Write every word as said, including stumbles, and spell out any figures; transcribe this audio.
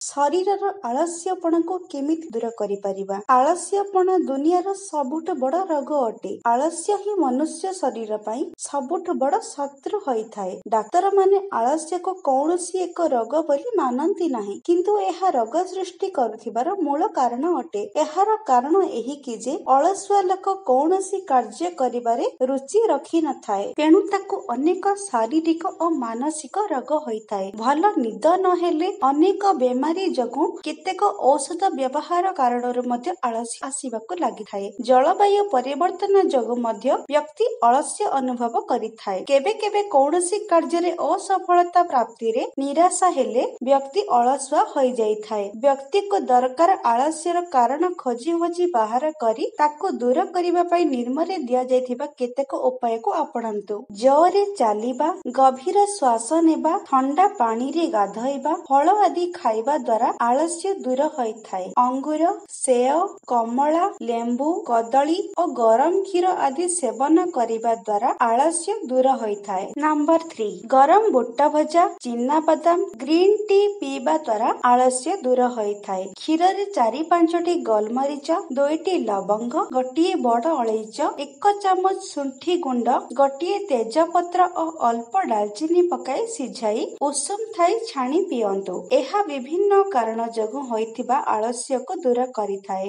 ଶରୀରର ଆଳସ୍ୟପଣକୁ କେମିତି ଦୂର କରିପାରିବା? ଆଳସ୍ୟପଣ ଦୁନିଆର ସବୁଠୁ ବଡ଼ ରୋଗ ଅଟେ। ଆଳସ୍ୟ ହିଁ ମନୁଷ୍ୟ ଶରୀର ପାଇଁ ସବୁଠୁ ବଡ଼ ଶତ୍ରୁ ହୋଇଥାଏ। ଡାକ୍ତରମାନେ ଆଳସ୍ୟକୁ କୌଣସି ଏକ ରୋଗ ବୋଲି ମାନନ୍ତି ନାହିଁ, କିନ୍ତୁ ଏହା ରୋଗ ସୃଷ୍ଟି କରୁଥିବାର ମୂଳ କାରଣ ଅଟେ। ଏହାର କାରଣ ଏହିକି ଯେ ଅଳସୁଆ ଲୋକ କୌଣସି କାର୍ଯ୍ୟ କରିବାରେ ରୁଚି ରଖିନଥାଏ। ତେଣୁ ତାକୁ ଅନେକ ଶାରୀରିକ ଓ ମାନସିକ ରୋଗ ହୋଇଥାଏ। ଭଲ ନିଦ ନହେଲେ, ଅନେକ ବେମାରୀ ଯୋଗୁଁ, କେତେକ ଔଷଧ ବ୍ୟବହାର କାରଣରୁ ମଧ୍ୟ ଆଳସ୍ୟ ଆସିବାକୁ ଲାଗିଥାଏ। ଜଳବାୟୁ ପରିବର୍ତ୍ତନ ଯୋଗୁଁ ମଧ୍ୟ ବ୍ୟକ୍ତି ଅଳସ୍ୟ ଅନୁଭବ କରିଥାଏ। କେବେ କେବେ କୌଣସି କାର୍ଯ୍ୟରେ ଅସଫଳତା ପ୍ରାପ୍ତିରେ ନିରାଶା ହେଲେ ବ୍ୟକ୍ତି ଅଳସୁଆ ହୋଇଯାଇଥାଏ। ବ୍ୟକ୍ତିକୁ ଦରକାର ଆଳସ୍ୟର କାରଣ ଖୋଜି ଖୋଜି ବାହାର କରି ତାକୁ ଦୂର କରିବା ପାଇଁ ନିମ୍ନରେ ଦିଆଯାଇଥିବା କେତେକ ଉପାୟକୁ ଆପଣାନ୍ତୁ। ଜୋରରେ ଚାଲିବା, ଗଭୀର ଶ୍ୱାସ ନେବା, ଥଣ୍ଡା ପାଣିରେ ଗାଧୋଇବା, ଫଳ ଆଦି ଖାଇବା ଦ୍ୱାରା ଆଳସ୍ୟ ଦୂର ହୋଇଥାଏ। ଅଙ୍ଗୁର, ସେଓ, କମଳା, ଲେମ୍ବୁ, କଦଳୀ ଓ ଗରମ କ୍ଷୀର ଆଦି ସେବନ କରିବା ଦ୍ୱାରା ଆଳସ୍ୟ ଦୂର ହୋଇଥାଏ। ନମ୍ବର ଥ୍ରୀ, ଗରମ ବୁଟ ଭଜା, ଚିନାବାଦାମ, ଗ୍ରୀନ ଟି ପିଇବା ଦ୍ୱାରା ଆଳସ୍ୟ ଦୂର ହୋଇଥାଏ। କ୍ଷୀରରେ ଚାରି ପାଞ୍ଚଟି ଗୋଲମରିଚ, ଦୁଇଟି ଲବଙ୍ଗ, ଗୋଟିଏ ବଡ ଅଳେଇଚ, ଏକ ଚାମଚ ଶୁଣ୍ଠି ଗୁଣ୍ଡ, ଗୋଟିଏ ତେଜପତ୍ର ଓ ଅଳ୍ପ ଡାଲଚିନି ପକାଇ ସିଝାଇ ଉଷୁମ ଥାଇ ଛାଣି ପିଅନ୍ତୁ। ଏହା ବିଭିନ୍ନ କାରଣ ଯୋଗୁଁ ହୋଇଥିବା ଆଳସ୍ୟକୁ ଦୂର କରିଥାଏ।